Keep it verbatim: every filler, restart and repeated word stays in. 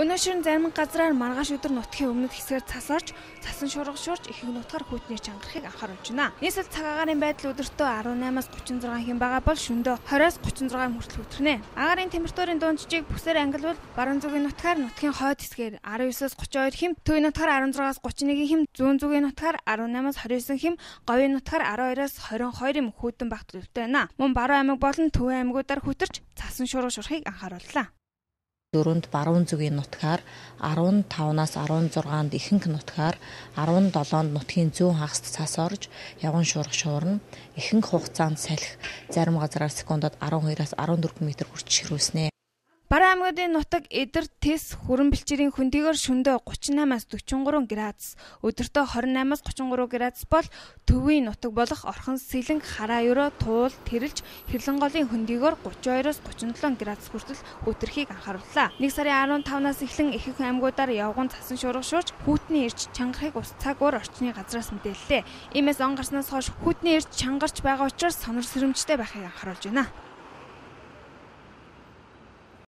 Өнөөдөр зарим газраар маргааш өдөр нутгийн өмнөд хэсгээр цас орж, цасан шуурга шуурж их нутгаар хүйтний чангарахыг анхааруулж байна. Нийслэл цаг агаарын байдал өдөртөө арван наймаас гучин зургаан хэм байгаа бол шөнөдөө двадцать-аас гучин зургаан хүртэл хүтрнэ. Агаарын температурын дундчийг бүсээр ангилвал баруун зүгийн нутгаар нутгийн хойд хэсгээр десять-аас тридцать two хэм, төвийн нутгаар дес六-аас thirty-one хэм, зүүн зүгийн нутгаар eighteen-аас twenty-nine хэм, говийн нутгаар twelve-аас twenty-two хэм хүйтэн багт төлөвтэй байна. Мөн баруун аймаг болон төвийн аймагуудаар хүтэрч цасан шуурга шуурхыг анхаарууллаа. Дөрөнд баруун зүгийн нутгаар fifteen-аас sixteen-нд ихэнх нутгаар seventeen-нд нутгийн зүүн хагаст цас орж явган шуурга шуурна. Ихэнх хугацаанд салхи зарим газраар секундад twelve-аас fourteen м хүрч ширүүлснэ. Баруун аймагуудын нутаг Эдэр, Тэс, Хүрэн бэлчээрийн хөндийгөр шөнөдөө thirty-eight-аас forty-three градус, өдөртөө twenty-eight-аас thirty-three градус бол төвийн нутаг болох Орхон, Сэлэнг, Хараа ерөө, Туул, Тэрэлж, Хэрлэнголын хөндийгөр thirty-two-аас thirty-seven градус хүртэл хүтрхийг анхаарууллаа. Нэг сарын fifteen-наас эхлэн ихэнх аймагуудаар явган цасан шуурга шуурж, хүйтний эрч чангарахыг ус цаг уур орчны газраас мэдээллээ. Иймээс он гарснаас хойш хүйтний эрч чангарч байгаа учраас сонор сэрэмжтэй байхыг анхааруулж байна.